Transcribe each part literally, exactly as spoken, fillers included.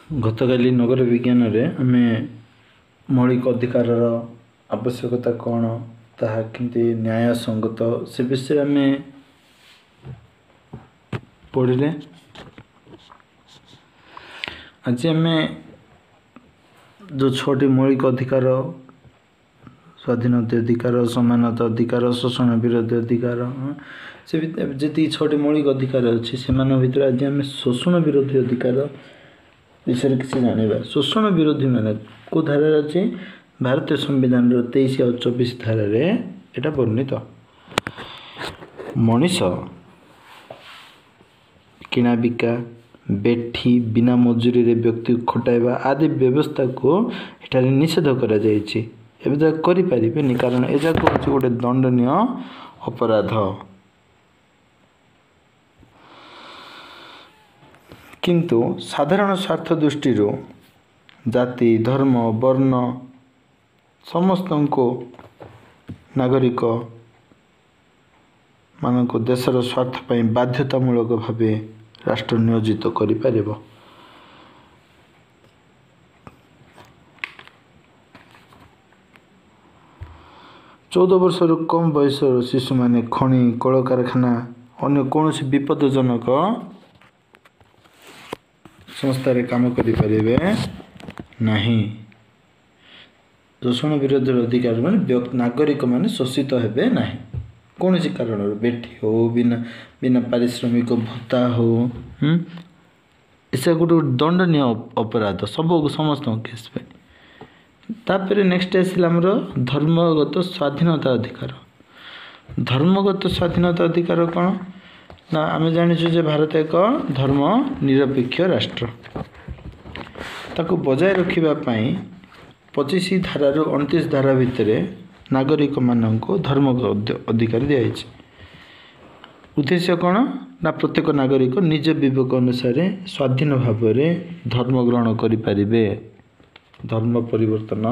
ଗତକାଲି ନଗର ବିଜ୍ଞାନରେ ଆମେ ମୌଳିକ ଅଧିକାରର ଆବଶ୍ୟକତା କ'ଣ, ତାହା କେମିତି ନ୍ୟାୟ ସଙ୍ଗତ, ସେ ବିଷୟରେ ଆମେ ପଢ଼ିଲେ। ଆଜି ଆମେ ଯେଉଁ ଛଅଟି ମୌଳିକ ଅଧିକାର, ସ୍ୱାଧୀନତା ଅଧିକାର, ସମାନତା ଅଧିକାର, ଶୋଷଣ ବିରୋଧୀ ଅଧିକାର, ସେ ଯେତିକି ଛଅଟି ମୌଳିକ ଅଧିକାର ଅଛି, ସେମାନଙ୍କ ଭିତରେ ଆଜି ଆମେ ଶୋଷଣ ବିରୋଧୀ ଅଧିକାର ବିଷୟରେ କିଛି ଜାଣିବା। ଶୋଷଣ ବିରୋଧୀ ମାନେ କେଉଁ ଧାରାରେ ଅଛି? ଭାରତୀୟ ସମ୍ବିଧାନର ତେଇଶ ଆଉ ଚବିଶ ଧାରାରେ ଏଇଟା ବର୍ଣ୍ଣିତ। ମଣିଷ କିଣା ବିକା, ବେଠି, ବିନା ମଜୁରୀରେ ବ୍ୟକ୍ତିକୁ ଖଟାଇବା ଆଦି ବ୍ୟବସ୍ଥାକୁ ଏଠାରେ ନିଷେଧ କରାଯାଇଛି। ଏବେ ଯାକ କରିପାରିବେନି, କାରଣ ଏଯାକ ହେଉଛି ଗୋଟେ ଦଣ୍ଡନୀୟ ଅପରାଧ। କିନ୍ତୁ ସାଧାରଣ ସ୍ୱାର୍ଥ ଦୃଷ୍ଟିରୁ ଜାତି, ଧର୍ମ, ବର୍ଣ୍ଣ ସମସ୍ତଙ୍କୁ ନାଗରିକ ମାନଙ୍କୁ ଦେଶର ସ୍ୱାର୍ଥ ପାଇଁ ବାଧ୍ୟତାମୂଳକ ଭାବେ ରାଷ୍ଟ୍ର ନିୟୋଜିତ କରିପାରିବ। ଚଉଦ ବର୍ଷରୁ କମ୍ ବୟସର ଶିଶୁମାନେ ଖଣି, କଳକାରଖାନା, ଅନ୍ୟ କୌଣସି ବିପଦଜନକ ସଂସ୍ଥାରେ କାମ କରିପାରିବେ ନାହିଁ। ଶୋଷଣ ବିରୋଧର ଅଧିକାର ମାନେ ନାଗରିକମାନେ ଶୋଷିତ ହେବେ ନାହିଁ କୌଣସି କାରଣରୁ, ବେଠି ହଉ, ବିନା ବିନା ପାରିଶ୍ରମିକ ଭତ୍ତା ହଉ, ଏସବୁ ଗୋଟେ ଗୋଟେ ଦଣ୍ଡନୀୟ ଅପରାଧ ସବୁ ସମସ୍ତଙ୍କ କେସ୍ ପାଇଁ। ତାପରେ ନେକ୍ସଟ ଆସିଲା ଆମର ଧର୍ମଗତ ସ୍ୱାଧୀନତା ଅଧିକାର। ଧର୍ମଗତ ସ୍ୱାଧୀନତା ଅଧିକାର କ'ଣ ନା, ଆମେ ଜାଣିଛୁ ଯେ ଭାରତ ଏକ ଧର୍ମ ନିରପେକ୍ଷ ରାଷ୍ଟ୍ର। ତାକୁ ବଜାୟ ରଖିବା ପାଇଁ ପଚିଶ ଧାରାରୁ ଅଣତିରିଶ ଧାରା ଭିତରେ ନାଗରିକମାନଙ୍କୁ ଧର୍ମ ଅଧିକାର ଦିଆଯାଇଛି। ଉଦ୍ଦେଶ୍ୟ କ'ଣ ନା, ପ୍ରତ୍ୟେକ ନାଗରିକ ନିଜ ବିବେକ ଅନୁସାରେ ସ୍ୱାଧୀନ ଭାବରେ ଧର୍ମ ଗ୍ରହଣ କରିପାରିବେ, ଧର୍ମ ପରିବର୍ତ୍ତନ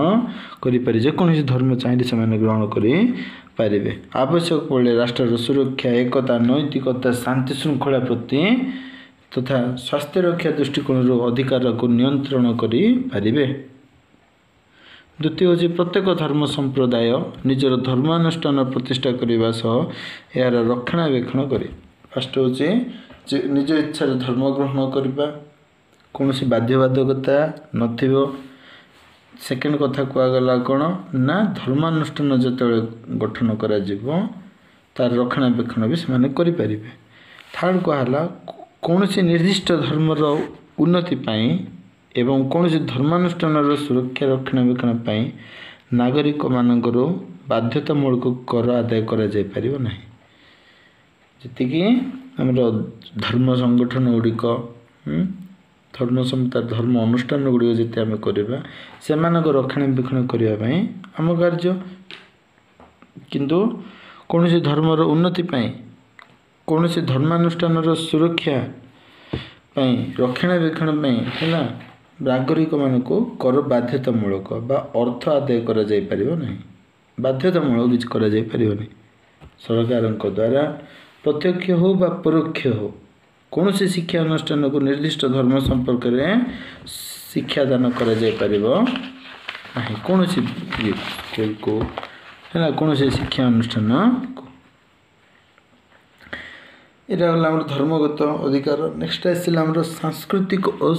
କରିପାରିବେ, ଯେକୌଣସି ଧର୍ମ ଚାହିଁଲେ ସେମାନେ ଗ୍ରହଣ କରିପାରିବେ। ଆବଶ୍ୟକ ପଡ଼ିଲେ ରାଷ୍ଟ୍ରର ସୁରକ୍ଷା, ଏକତା, ନୈତିକତା, ଶାନ୍ତି ଶୃଙ୍ଖଳା ପ୍ରତି ତଥା ସ୍ୱାସ୍ଥ୍ୟ ରକ୍ଷା ଦୃଷ୍ଟିକୋଣରୁ ଅଧିକାରକୁ ନିୟନ୍ତ୍ରଣ କରିପାରିବେ। ଦ୍ୱିତୀୟ ହେଉଛି ପ୍ରତ୍ୟେକ ଧର୍ମ ସମ୍ପ୍ରଦାୟ ନିଜର ଧର୍ମାନୁଷ୍ଠାନ ପ୍ରତିଷ୍ଠା କରିବା ସହ ଏହାର ରକ୍ଷଣାବେକ୍ଷଣ କରେ। ଫାଷ୍ଟ ହେଉଛି ନିଜ ଇଚ୍ଛାରେ ଧର୍ମ ଗ୍ରହଣ କରିବା, କୌଣସି ବାଧ୍ୟବାଧକତା ନଥିବ। ସେକେଣ୍ଡ କଥା କୁହାଗଲା କ'ଣ ନା, ଧର୍ମାନୁଷ୍ଠାନ ଯେତେବେଳେ ଗଠନ କରାଯିବ ତାର ରକ୍ଷଣାବେକ୍ଷଣ ବି ସେମାନେ କରିପାରିବେ। ଥାର୍ଡ଼ କୁହାହେଲା କୌଣସି ନିର୍ଦ୍ଦିଷ୍ଟ ଧର୍ମର ଉନ୍ନତି ପାଇଁ ଏବଂ କୌଣସି ଧର୍ମାନୁଷ୍ଠାନର ସୁରକ୍ଷା ରକ୍ଷଣାବେକ୍ଷଣ ପାଇଁ ନାଗରିକମାନଙ୍କର ବାଧ୍ୟତାମୂଳକ କର ଆଦାୟ କରାଯାଇପାରିବ ନାହିଁ। ଯେତିକି ଆମର ଧର୍ମ ସଂଗଠନ ଗୁଡ଼ିକ, ଧର୍ମ ଧର୍ମ ଅନୁଷ୍ଠାନ ଗୁଡ଼ିକ ଯେତେ ଆମେ କରିବା, ସେମାନଙ୍କ ରକ୍ଷଣାବେକ୍ଷଣ କରିବା ପାଇଁ ଆମ କାର୍ଯ୍ୟ। କିନ୍ତୁ କୌଣସି ଧର୍ମର ଉନ୍ନତି ପାଇଁ, କୌଣସି ଧର୍ମାନୁଷ୍ଠାନର ସୁରକ୍ଷା ପାଇଁ, ରକ୍ଷଣାବେକ୍ଷଣ ପାଇଁ ହେଲା ନାଗରିକମାନଙ୍କୁ କର ବାଧ୍ୟତାମୂଳକ ବା ଅର୍ଥ ଆଦାୟ କରାଯାଇପାରିବ ନାହିଁ। ବାଧ୍ୟତାମୂଳକ କିଛି କରାଯାଇପାରିବନି ସରକାରଙ୍କ ଦ୍ୱାରା, ପ୍ରତ୍ୟକ୍ଷ ହେଉ ବା ପରୋକ୍ଷ ହେଉ। କୌଣସି ଶିକ୍ଷା ଅନୁଷ୍ଠାନକୁ ନିର୍ଦ୍ଦିଷ୍ଟ ଧର୍ମ ସମ୍ପର୍କରେ ଶିକ୍ଷାଦାନ କରାଯାଇପାରିବ ନାହିଁ, କୌଣସି ସ୍କୁଲକୁ ହେଲା, କୌଣସି ଶିକ୍ଷା ଅନୁଷ୍ଠାନକୁ। ଏଇଟା ହେଲା ଆମର ଧର୍ମଗତ ଅଧିକାର। ନେକ୍ସଟ ଆସିଲା ଆମର ସାଂସ୍କୃତିକ ଓ